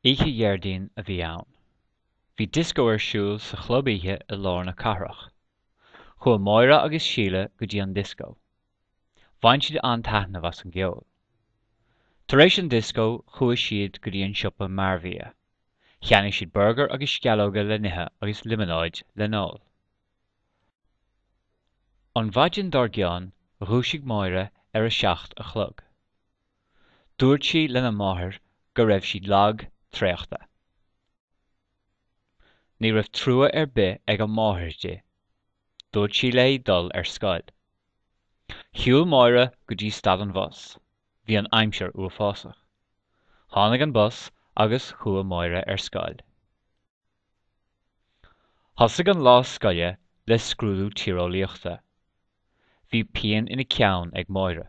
Oíche Dhéardaoin a bhí ann. Bhí dioscó ar siúl sa chlub oíche i lár na cathrach. Chuaigh Máire agus Síle go dtí an dioscó. Bhain siad an-taitneamh as an gceol. Tar éis an dioscó chuaigh siad go dtí an siopa mearbhia. Cheannaigh siad burgar agus sceallóga le n-ithe agus liomanáid le n-ól. An mhaidin dár gcionn dhúisigh Máire ar a 7 a chlog. Dúirt sí lena máthair go raibh sí lag traochta. Ní raibh trua ar bith ag a máthair di. Dúirt sí léi dul ar scoil. Shiúil Máire go dtí stad an bhus. Bhí an aimsir uafásach. Tháinig an bus agus chuaigh Máire ar scoil. Thosaigh an lá scoile le scrúdú tíreolaíochta. Bhí pian ina ceann ag Máire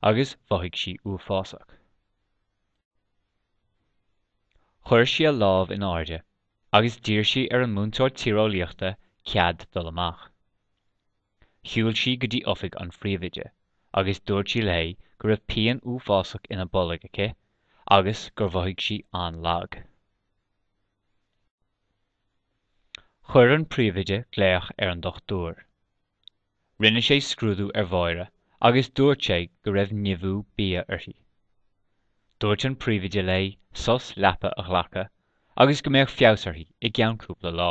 agus mhothaigh sí uafásach. Chuir sí a lámh in airde agus d'iarr sí ar an múinteoir tíreolaíochta cead dul amach. Shiúil sí go dtí oifig an phríomhoide agus dúirt sí léi go raibh pian uafásach ina bolg aici agus gur mhothaigh sí an-lag. Chuir an príomhoide glaoch ar an dochtúir. Rinne sé scrúdú ar Mháire agus dúirt sé go raibh nimhiú bia uirthi. Dúirt an príomhoide léi sos leapa a ghlacadh agus go mbeadh feabhas uirthi i gceann cúpla lá.